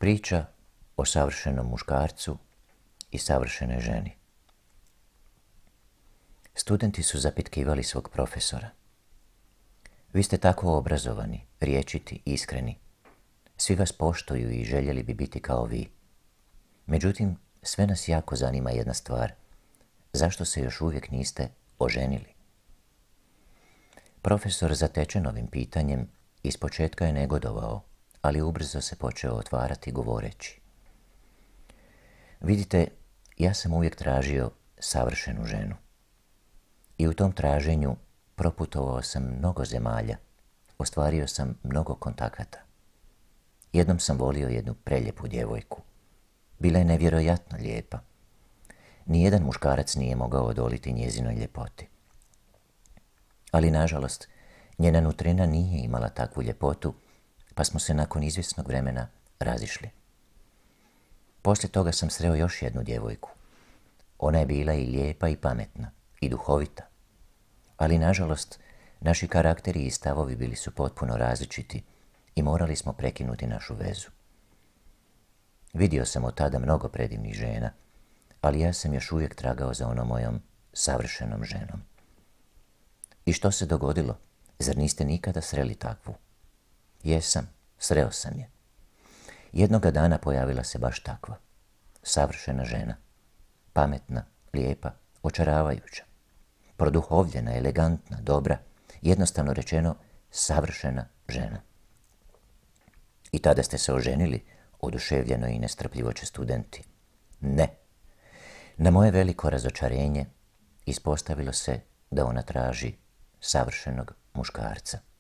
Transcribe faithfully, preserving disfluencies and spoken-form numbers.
Priča o savršenom muškarcu i savršenoj ženi. Studenti su zapitkivali svog profesora. Vi ste tako obrazovani, rječiti, iskreni. Svi vas poštuju i željeli bi biti kao vi. Međutim, sve nas jako zanima jedna stvar. Zašto se još uvijek niste oženili? Profesor, zatečen ovim pitanjem, ispočetka je negodovao, ali ubrzo se počeo otvarati govoreći. Vidite, ja sam uvijek tražio savršenu ženu. I u tom traženju proputovao sam mnogo zemalja, ostvario sam mnogo kontakata. Jednom sam volio jednu preljepu djevojku. Bila je nevjerojatno lijepa. Nijedan muškarac nije mogao odoliti njezinoj ljepoti. Ali, nažalost, njena nutrina nije imala takvu ljepotu, pa smo se nakon izvjesnog vremena razišli. Poslije toga sam sreo još jednu djevojku. Ona je bila i lijepa i pametna, i duhovita. Ali, nažalost, naši karakteri i stavovi bili su potpuno različiti i morali smo prekinuti našu vezu. Vidio sam od tada mnogo predivnih žena, ali ja sam još uvijek tragao za onom mojom savršenom ženom. I što se dogodilo? Zar niste nikada sreli takvu? Jesam, sreo sam je. Jednoga dana pojavila se baš takva. Savršena žena. Pametna, lijepa, očaravajuća. Produhovljena, elegantna, dobra, jednostavno rečeno, savršena žena. I tada ste se oženili, oduševljeno i nestrpljivo će studenti. Ne. Na moje veliko razočarenje ispostavilo se da ona traži savršenog muškarca.